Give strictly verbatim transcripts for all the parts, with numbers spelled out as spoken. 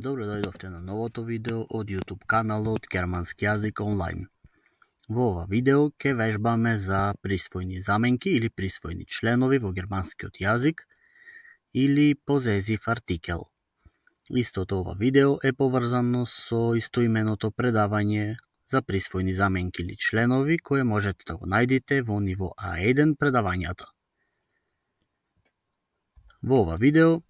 Добро дојдовте на новото видео од YouTube каналот Германски јазик онлайн. Во ова видео ќе вежбаме за присвојни заменки или присвојни членови во германскиот јазик или позезив артикел. Истото ова видео е поврзано со истоименото предавање за присвојни заменки или членови кое можете да го најдете во ниво А еден предавањата. Во ова видео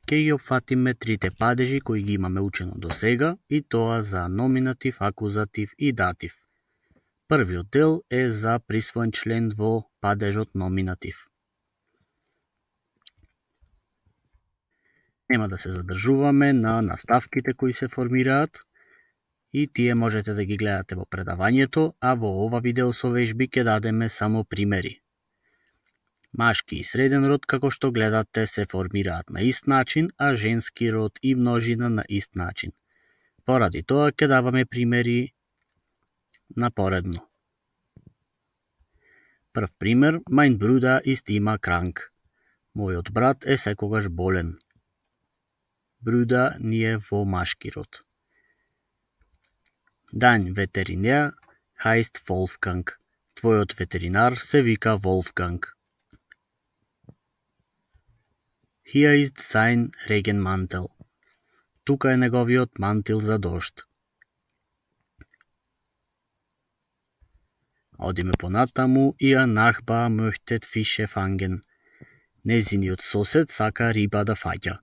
ќе ги опфатиме трите падежи кои ги имаме учено до сега, и тоа за номинатив, акузатив и датив. Првиот дел е за присвоен член во падежот номинатив. Нема да се задржуваме на наставките кои се формираат и тие можете да ги гледате во предавањето, а во ова видео со вежби ќе дадеме само примери. Машки и среден род, како што гледате, се формираат на ист начин, а женски род и множина на ист начин. Поради тоа ќе даваме примери напоредно. Прв пример, mein Bruder ist immer krank. Мојот брат е секогаш болен. Bruder ни е во машки род. Dein Veterinär heißt Wolfgang. Твојот ветеринар се вика Wolfgang. Hier ist sein Regenmantel. Тука е неговиот мантил за дожд. Одиме понатаму, ihr Nachbar möchte Fische fangen. Незиниот сосед сака риба да фаќа.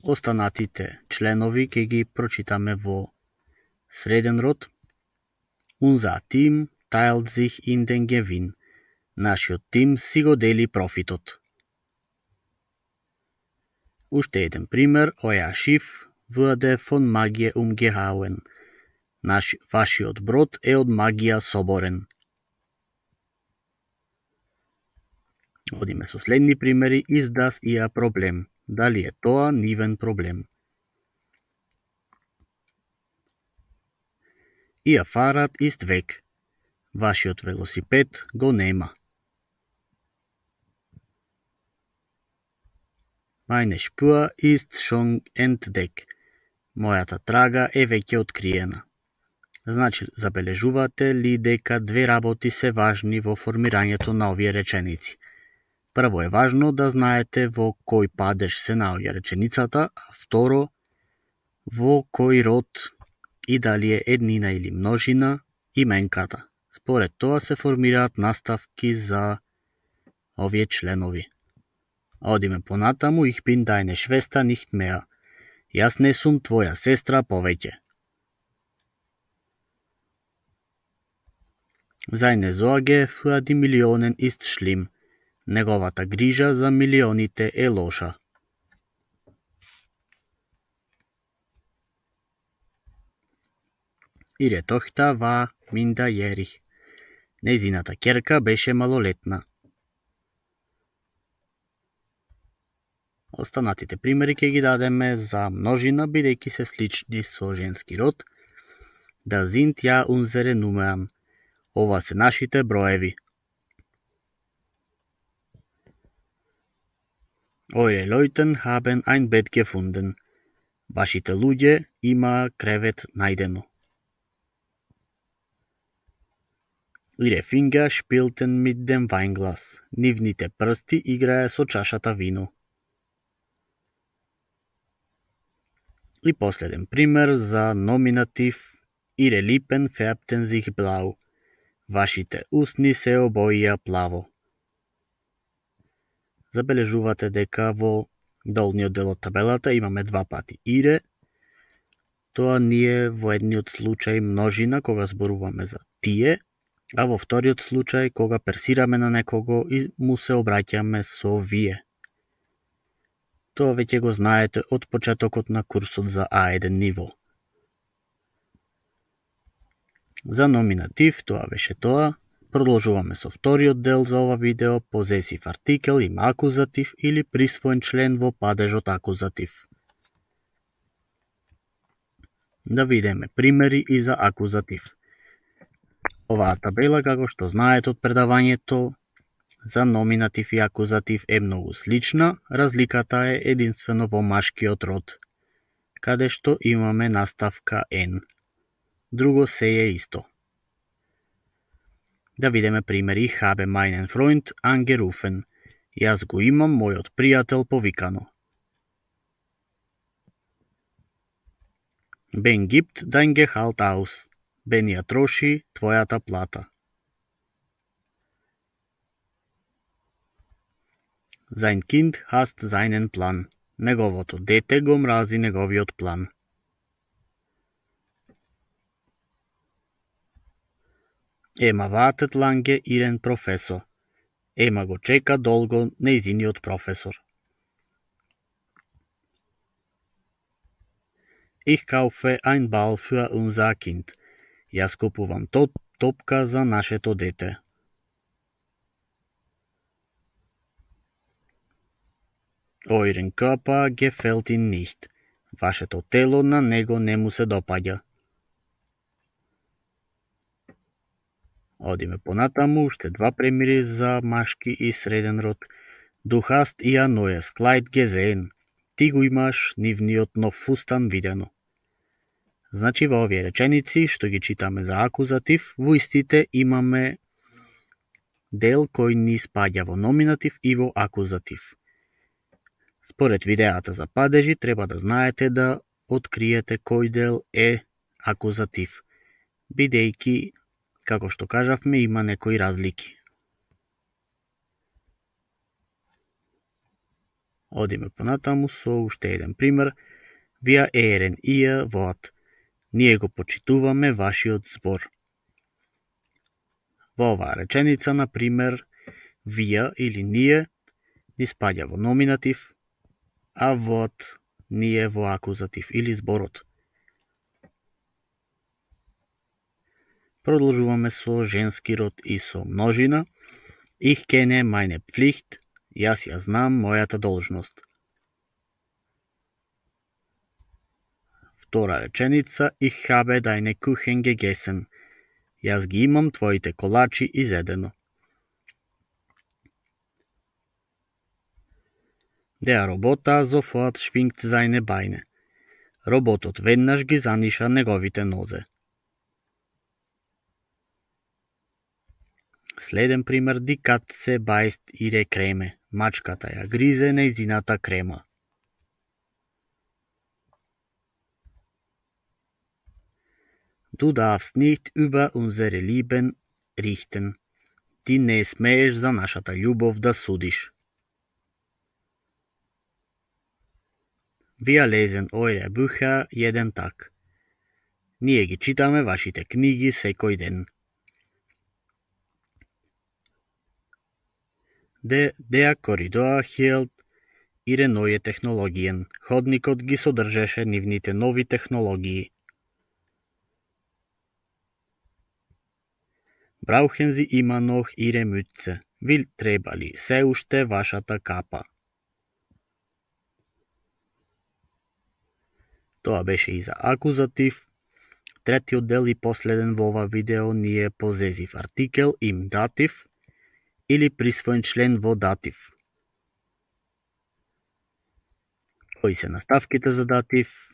Останатите членови ќе ги прочитаме во среден род. Unser Team teilt sich in den Gewinn. Нашиот тим си го дели профитот. Уште еден пример, euer Schiff wurde von Magie umgehauen. Наш, вашиот брод е од магија соборен. Одиме со следни примери, is das ihr Problem? Дали е тоа нивен проблем? Ihr Fahrrad ist weg. Вашиот велосипед го нема. Meine Spur ist schon entdeckt. Мојата трага е веќе откриена. Значи, забележувате ли дека две работи се важни во формирањето на овие реченици? Прво е важно да знаете во кој падеж се наоѓа реченицата, а второ, во кој род и дали е еднина или множина именката. Според тоа се формираат наставки за овие членови. Одиме понатаму, ich bin deine Schwester nicht mehr. Јас не сум твоја сестра повеќе. Seine Sorge für die Millionen ist schlimm. Неговата грижа за милионите е лоша. Ihre Tochter war minderjährig. Незината ќерка беше малолетна. Останатите примери ќе ги дадеме за множина, бидејќи се слични со женски род. Da sind ja unsere Nummern. Ова се нашите броеви. Eure Leuten haben ein Bett gefunden. Вашите луѓе има кревет најдено. Ihre Finger spielten mit dem Weinglas. Нивните прсти играе со чашата вино. И последен пример за номинатив. Ihre Lippen färbten sich blau. Вашите усни се обоија плаво. Забележувате дека во долниот дел од табелата имаме два пати ире. Тоа ни е во едниот случај множина кога зборуваме за тие, а во вториот случај кога персираме на некого и му се обраќаме со вие. Тоа веќе го знаете од почетокот на курсот за А еден ниво. За номинатив тоа беше тоа. Продолжуваме со вториот дел за ова видео, позесив артикел има акузатив или присвоен член во падежот акузатив. Да видиме примери и за акузатив. Оваа табела, како што знаете од предавањето, за номинатив и акузатив е многу слична, разликата е единствено во машкиот род, каде што имаме наставка N. Друго се е исто. Да видиме примери. Ich habe meinen Freund angerufen. Јас го имам мојот пријател повикано. Ben gibt dein Gehalt aus. Ben ја троши твојата плата. Sein Kind hasst seinen Plan. Неговото дете го мрази неговиот план. Ема wartet lange ihren Professor. Ема го чека долго нејзиниот професор. Ich kaufe ein Ball für unser Kind. Јас купувам топ, топка за нашето дете. Euren Körper gefällt ihm nicht. Вашето тело на него не му се допаѓа. Одиме понатаму, уште два примери за машки и среден род. Du hast ihr neues Kleid gesehen. Ти го имаш нивниот нов фустан видено. Значи во овие реченици, што ги читаме за акузатив, во истите имаме дел кој ни спаѓа во номинатив и во акузатив. Според видеата за падежи, треба да знаете да откриете кој дел е акузатив, бидејќи, како што кажавме, има некои разлики. Одиме понатаму со уште еден пример. Wir ehren ihr Wort. Ние го почитуваме вашиот збор. Во оваа реченица, на пример, wir или ние ни спаѓа во номинатив, а Wort ние во акузатив или зборот. Продолжуваме со женски род и со множина. Ich kenne meine Pflicht. Јас ја знам мојата должност. Втора реченица. Ich habe deine Kuchen gegessen. Јас ги имам твоите колачи изедено. Der Roboter sofort schwingt seine Beine. Роботот веднаш ги заниша неговите нозе. Следен пример. Die Katze beißt ihre Creme. Мачката ја гризе нејзината крема. Du darfst nicht über unsere Lieben richten. Ти не смееш за нашата љубов да судиш. Wir lesen eure Bücher jeden Tag. Ние ги читаме вашите книги секој ден. De, der Korridor hielt ihre neue Technologien. Ходникот ги содржеше нивните нови технологии. Brauchen Sie immer noch Ihre Mütze? Ви треба ли се уште вашата капа? Тоа беше и за акузатив. Третиот дел и последен во ова видео ни е позезив артикел им датив или присвоен член во датив. Кои се наставките за датив?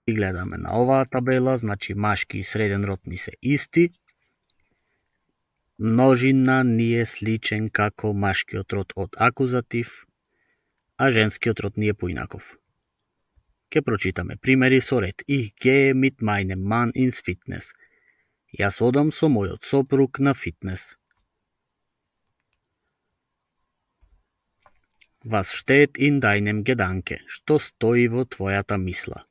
И гледаме на оваа табела, значи машки и среден род ни се исти. Множина ни е сличен како машкиот род од акузатив, а женскиот род ни е поинаков. Ке прочитаме примери со ред. Ich gehe mit meinem Mann ins Fitness. Јас одам со мојот сопруг на фитнес. Was steht in deinem Gedanke? Што стои во твојата мисла?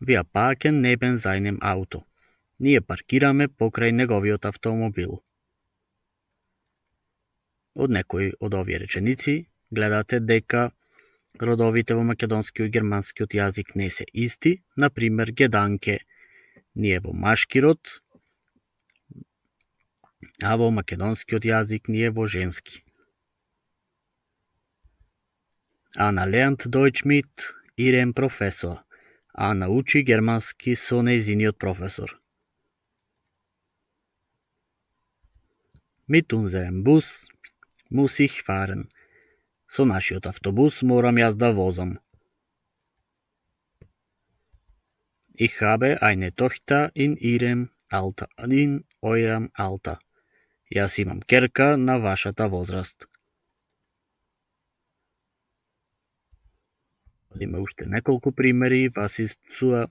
Wir parken neben seinem Auto. Ние паркираме покрај неговиот автомобил. Од некои од овие реченици гледате дека родовите во македонскиот и германскиот јазик не се исти. Например, геданке ние во машки род, а во македонскиот јазик ние во женски. Ана lernt Deutsch mit ihrem Professor. Ана учи германски со нејзиниот професор. Mit unserem Bus muss ich fahren. Со нашиот автобус морам јас да возам. Ich habe eine Tochter in ihrem Alter, in eurem Alter. Јас имам ќерка на вашата возраст. Има уште неколку примери. Was ist zu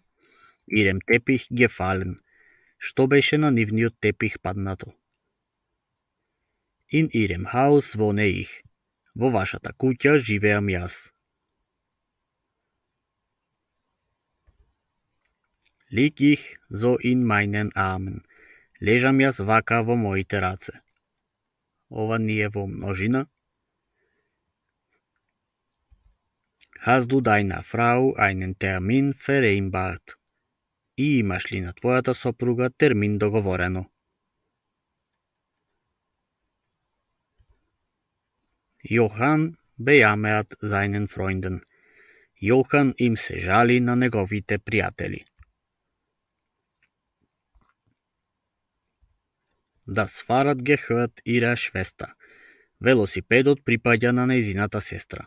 ihrem Teppich gefallen? Што беше на нивниот тепих паднато? In ihrem Haus wohne ich. Во вашата куќа живеам јас. Lieg ich so in meinen Armen. Лежам јас вака во моите раце. Ова ни е во множина. Hast du deiner Frau einen Termin vereinbart? И имаш ли на твојата сопруга термин договорено? Johann bejammert seinen Freunden. Johan им се жали на неговите пријатели. Das Fahrrad gehört ihrer Schwester. Велосипедот припаѓа на нејзината сестра.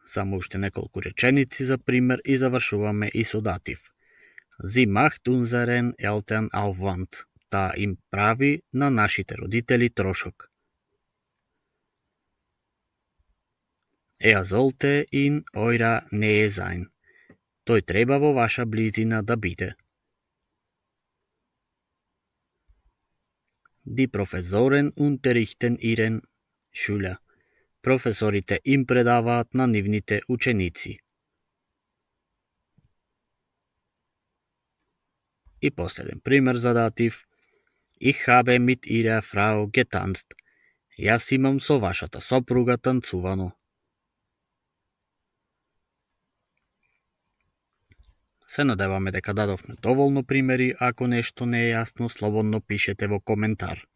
Само уште неколку реченици за пример и завршуваме и со датив. Sie macht unseren Eltern Aufwand. Таа им прави на нашите родители трошок. Er sollte in eurer Nähe sein. Тој треба во ваша близина да биде. Die Professoren unterrichten ihren Schüler. Професорите им предаваат на нивните ученици. И последен пример за датив. Ich habe mit ihrer Frau getanzt. Јас имам со вашата сопруга танцувано. Се надеваме дека дадовме доволно примери. Ако нешто не е јасно, слободно пишете во коментар.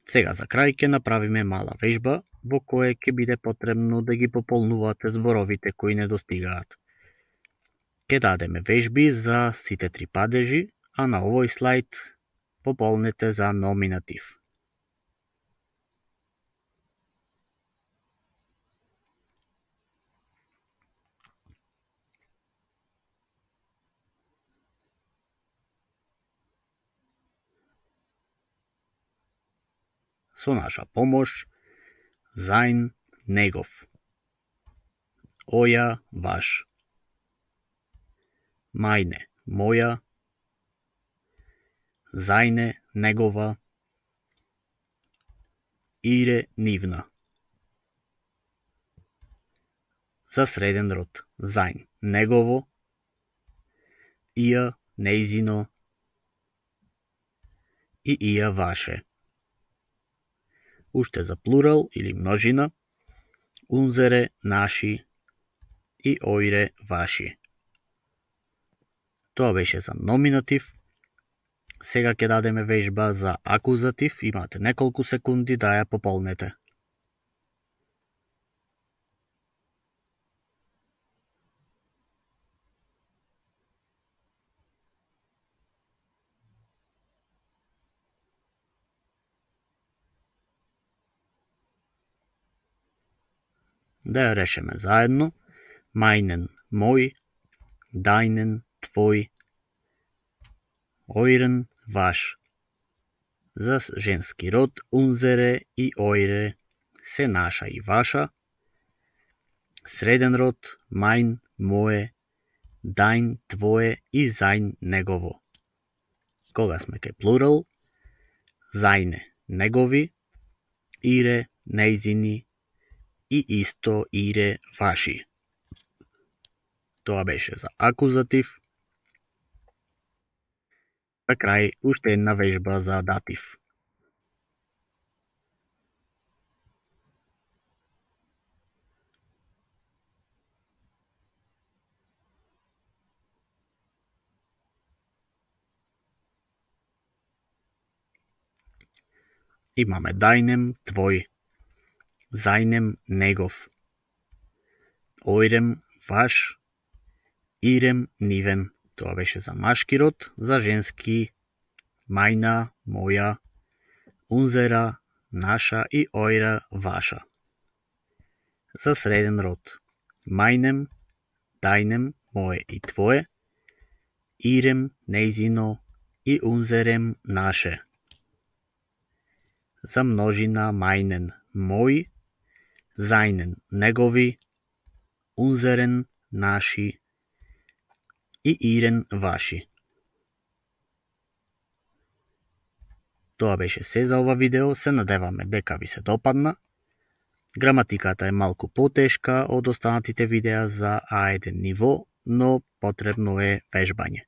Сега за крај ќе направиме мала вежба во која ќе биде потребно да ги пополнувате зборовите кои недостигаат. Ќе дадеме вежби за сите три падежи, а на овој слайд пополнете за номинатив. Со наша помош sein, негов. Оја, ваш. Meine, моја. Seine, негова. Ihre, нивна. За среден род. Sein, негово. Ihr, нејзино. И ihr, ваше. Уште за плурал или множина. Unsere, наши. И eure, ваши. Тоа беше за номинатив. Сега ќе дадеме вежба за акузатив. Имате неколку секунди да ја пополнете. Да ја решиме заедно. Meinen, мој. Deinen, твој. Euren, ваш. За женски род unsere и eure се наша и ваша. Среден род mein, мое. Dein, твое и sein, негово. Кога сме кај плурал, seine, негови. Ihre, нејзини. И исто ihre, ваши. Тоа беше за акузатив. За крај, уште една вежба за датив. Имаме deinem, твој. Seinem, негов. Eurem, ваш. Ihre, нивен. Тоа беше за машки род, за женски мајна, моја, унзера, наша и ојра, ваша. За среден род: мајнем, тајнем, мое и твое, ирем, нејзино и унзерем, наше. За множина: мајнен, мој, зајнен, негови, унзерен, наши и ирен, ваши. Тоа беше се за ова видео, се надеваме дека ви се допадна. Граматиката е малку потешка од останатите видеа за А еден ниво, но потребно е вежбање.